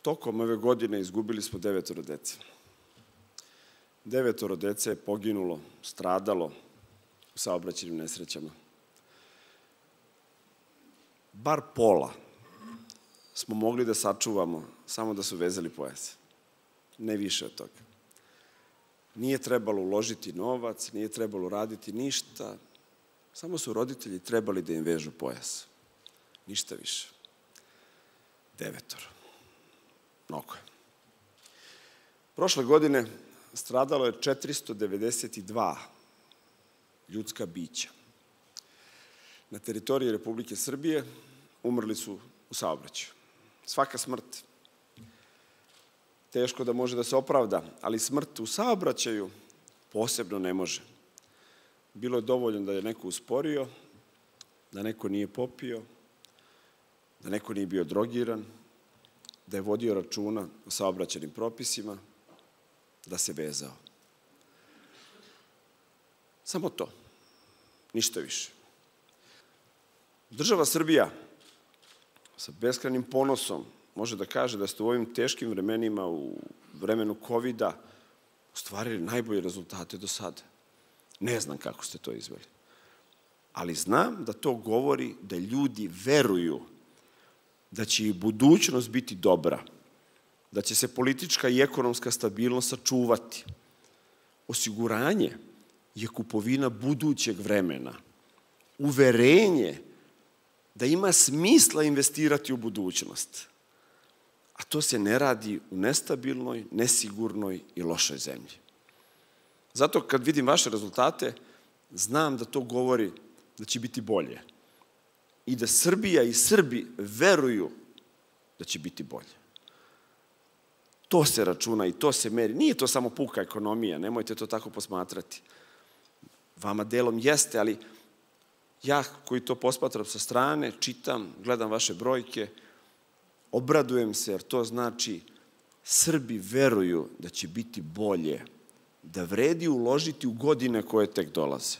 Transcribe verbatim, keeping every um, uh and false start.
Tokom ove godine izgubili smo devetoro dece. Devetoro dece je poginulo, stradalo u saobraćajnim nesrećama. Bar pola smo mogli da sačuvamo samo da su vezali pojase. Ne više od toga. Nije trebalo uložiti novac, nije trebalo raditi ništa, samo su roditelji trebali da im vežu pojas. Ništa više. Devetoro. Mnogo je. Prošle godine stradalo je četiristo devedeset dva ljudska bića. Na teritoriji Republike Srbije umrli su u saobraćaju. Svaka smrt teško da može da se opravda, ali smrt u saobraćaju posebno ne može. Bilo je dovoljno da je neko usporio, da neko nije popio, da neko nije bio drogiran, da je vodio računa o saobraćajnim propisima, da se vezao. Samo to. Ništa više. Država Srbija sa beskrajnim ponosom može da kaže da ste u ovim teškim vremenima, u vremenu kovida, ostvarili najbolje rezultate do sada. Ne znam kako ste to izveli. Ali znam da to govori da ljudi veruju da će i budućnost biti dobra, da će se politička i ekonomska stabilnost sačuvati. Osiguranje je kupovina budućeg vremena. Uverenje da ima smisla investirati u budućnost. A to se ne radi u nestabilnoj, nesigurnoj i lošoj zemlji. Zato kad vidim vaše rezultate, znam da to govori da će biti bolje. I da Srbija i Srbi veruju da će biti bolje. To se računa i to se meri. Nije to samo puka ekonomija, nemojte to tako posmatrati. Vama delom jeste, ali ja koji to posmatram sa strane, čitam, gledam vaše brojke, obradujem se jer to znači Srbi veruju da će biti bolje, da vredi uložiti u godine koje tek dolaze.